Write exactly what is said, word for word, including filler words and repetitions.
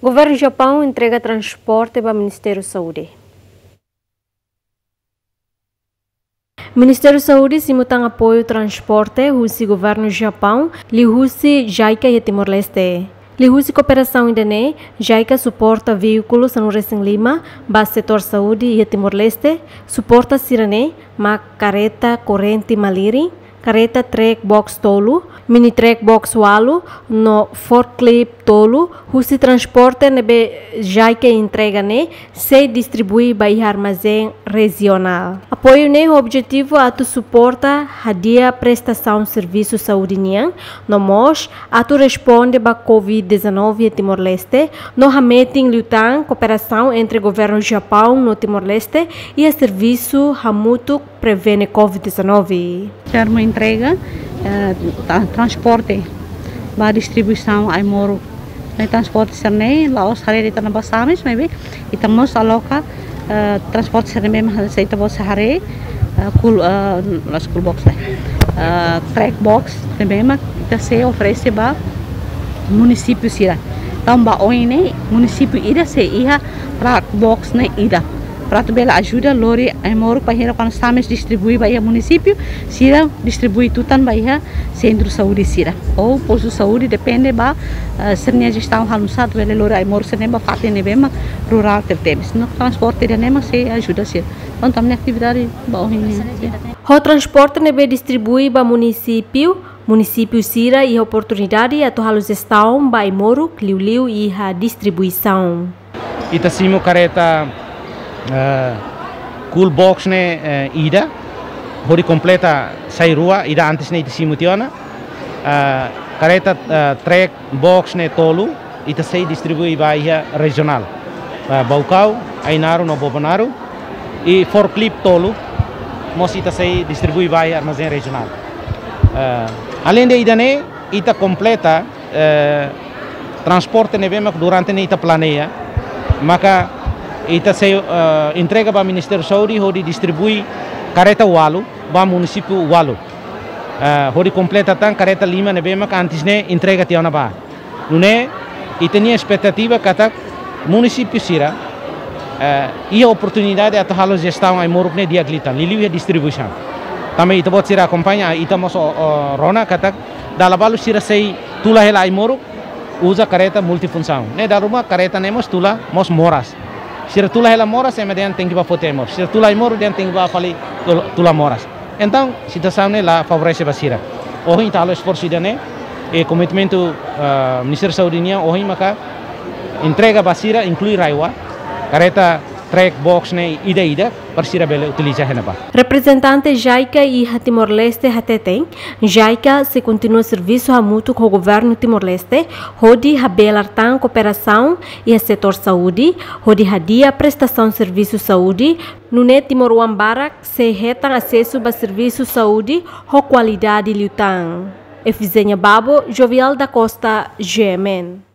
Governu Japaun entrega transporte ba Ministériu Saúde. Ministériu Saúde simu tan apoiu transporte husi Governu Japaun, liuhusi JICA iha Timor-Leste. Liuhusi kooperasaun ida-ne'e, JICA suporta veíkulu sanulu-resin-lima ba setór saúde iha Timor-Leste, suporta sira-ne'e mak kareta korrente malirin, kareta track box tolu, mini track box ualu, no forklift tolu, husi transporte ne'ebé JICA entrega ne'e, sei distribui ba iha armazén rejionál. Apoiu ne'e ho objetivu atu suporta hadi'a prestasaun servisu saúde nian, no mós atu responde ba covid dezanove iha Timor-Leste, no hametin liután kooperasaun entre Governu Japaun no Timor-Leste iha servisu hamutuk prevene covid dezanove. Termu entrega, eh, tra-, transporte ba distribuisaun ai-moruk. Ne'e transporte sira-ne'e la'ós haree de'it ona ba SAMES, maibé ita mós aloka, eh, transporte sira-ne'e mak se ita-boot sei haree, eh, cool, eh, la'ós cool box, eh, track box, ne'ebé mak ita sei oferese ba munisípiu sira. Entaun ba oin ne'e munisípiu ida sei iha track box ne'e ida. Para atu bele ajuda lori ai-moruk bainhira kuandu SAMES distribui ba iha munisípiu, sira distribui tutan ba iha sentru saúde sira. Ou postu saúde, depende ba, eh, sira-nia jestaun halo nusá atu bele lori ai-moruk sira-ne'e ba fatin ne'ebé mak rurál tebetebes. No transporte ida-ne'e mak sei ajuda sira. Entaun ami-nia atividade ba ohin ne'e. Ho transporte ne'ebé distribui ba munisípiu, munisípiu sira iha oportunidade atu halo jestaun ba ai-moruk liuliu iha distribuisaun. Ita simu kareta, eh, cool box ne'e, eh, ida, hodi kompleta sai rua, ida antes ne'e ita simu tiha ona. Eh, kareta, eh, track box ne'e tolu, ita sei distribui ba iha rejionál. Eh, Baucau, Ainaro no Bobonaro. I forklift tolu, mós ita sei distribui ba iha armazén rejionál. Eh, aleinde ida-ne'e, ita kompleta, eh, transporte ne'ebé mak durante ne'e ita planeia, maka ita sei, eh, entrega ba Ministériu Saúde hodi distribui kareta ualu ba munisípiu ualu. Eh, hodi kompleta tan kareta lima ne'ebé mak antes ne'e entrega tiha ona ba. Nune'e, ita-nia espetativa katak munisípiu sira, eh, iha oportunidade atu halo jestaun ai-moruk ne'e di'ak liután, liuliu iha distribuisaun. Tanba ita-boot sira akompaña, ita mós, o, o, rona katak dala balu sira sei tula hela ai-moruk, uza kareta multifunsaun. Ne'e dala ruma kareta ne'e mós tula mós moras. Sira tula hela moras, ema dehan tenke bá foti ai-moruk. Sira tula ai-moruk, dehan tenke bá fali tula, tula moras. Entaun, situasaun ne'e la favorese ba sira. Ohin ita halo esforsu ida-ne'e, i komitmentu, ah, Ministériu Saúde nian, ohin maka entrega ba sira, inklui RAEOA, kareta track box ne'e ida-ida, para sira bele utiliza iha ne'ebá. Reprezentante JICA iha Timor-Leste hateten, JICA sei kontinua servisu hamutuk ho Governu Timor-Leste, hodi habelar tan kooperasaun iha setór saúde, hodi hadi'a prestasaun servisu saúde, nune'e timoroan barak sei hetan asesu ba servisu saúde ho kualidade liután. Efizénia Babo, Jovial da Costa, GMN.